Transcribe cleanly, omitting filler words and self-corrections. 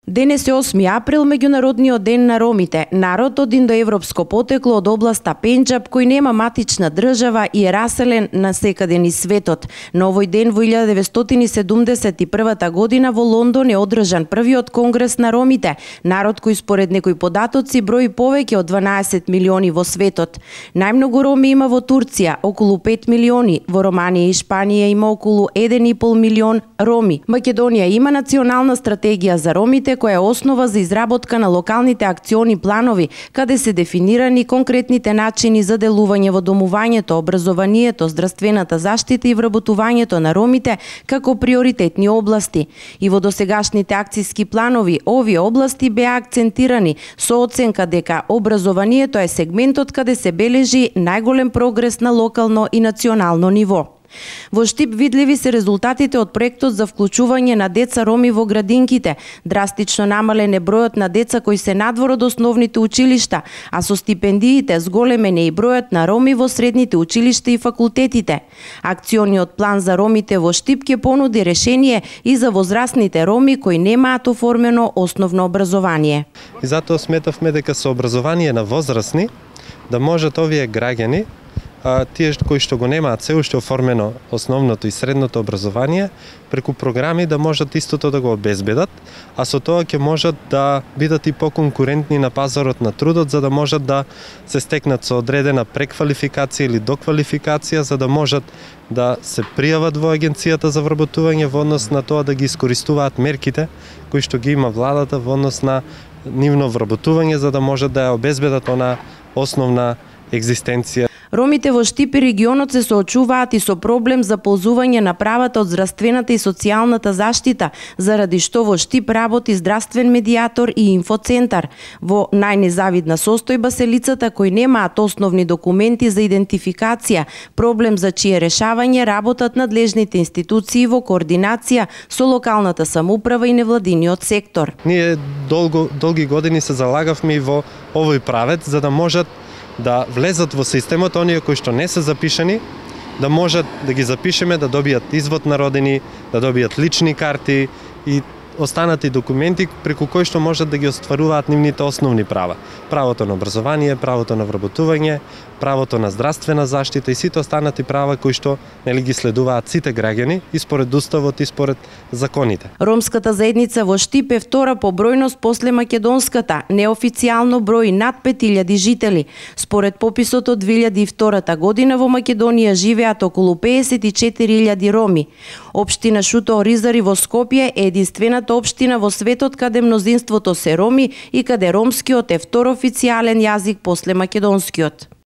Денес е 8 април, меѓународниот ден на ромите, народ од индоевропско потекло од областа Пенџаб кој нема матична држава и е раселен на секаде низ светот. На овој ден во 1971 година во Лондон е одржан првиот конгрес на ромите, народ кој според некои податоци брои повеќе од 12 милиони во светот. Најмногу роми има во Турција, околу 5 милиони, во Романија и Шпанија има околу 1,5 милион роми. Македонија има национална стратегија за ромите која е основа за изработка на локалните акциони планови, каде се дефинирани конкретните начини за делување во домувањето, образованието, здравствената заштита и вработувањето на ромите како приоритетни области. И во досегашните акциски планови овие области беа акцентирани со оценка дека образованието е сегментот каде се бележи најголем прогрес на локално и национално ниво. Во Штип видливи се резултатите од проектот за вклучување на деца роми во градинките. Драстично намален е бројот на деца кои се надвор од основните училишта, а со стипендиите зголемен е и бројот на роми во средните училишта и факултетите. Акциониот план за ромите во Штип ќе понуди решение и за возрастните роми кои немаат оформено основно образование. И затоа сметавме дека со образование на возрастни да можат овие граѓани, тие кои што го немаат се уште оформено основното и средното образование, преку програми да можат истото да го обезбедат, а со тоа ќе можат да бидат и поконкурентни на пазарот на трудот, за да можат да се стекнат со одредена преквалификација или доквалификација, за да можат да се пријават во агенцијата за вработување во однос на тоа да ги искористуваат мерките кои што ги има владата во однос на нивно вработување, за да можат да ја обезбедат она основна екзистенција. Ромите во Штип и регионот се соочуваат и со проблем за ползување на правата од здравствената и социјалната заштита, заради што во Штип работи здравствен медијатор и инфоцентар. Во најнезавидна состојба се лицата кои немаат основни документи за идентификација, проблем за чие решавање работат надлежните институции во координација со локалната самоуправа и невладиниот сектор. Ние долги години се залагавме и во овој правец за да можат да влезат во системот оние кои што не се запишани, да можат да ги запишеме, да добијат извод на родени, да добијат лични карти и останати документи преку кои што можат да ги остваруваат нивните основни права. Правото на образование, правото на вработување, правото на здравствена заштита и сите останати права кои што ги следуваат сите граѓани и според уставот и според законите. Ромската заедница во Штип е втора по бројност после македонската, неофицијално брои над 5000 жители. Според пописот од 2002 година во Македонија живеат околу 54.000 роми. Општина Шуто Оризари во Скопје е единствената општина во светот каде мнозинството се роми и каде ромскиот е втор официјален јазик после македонскиот.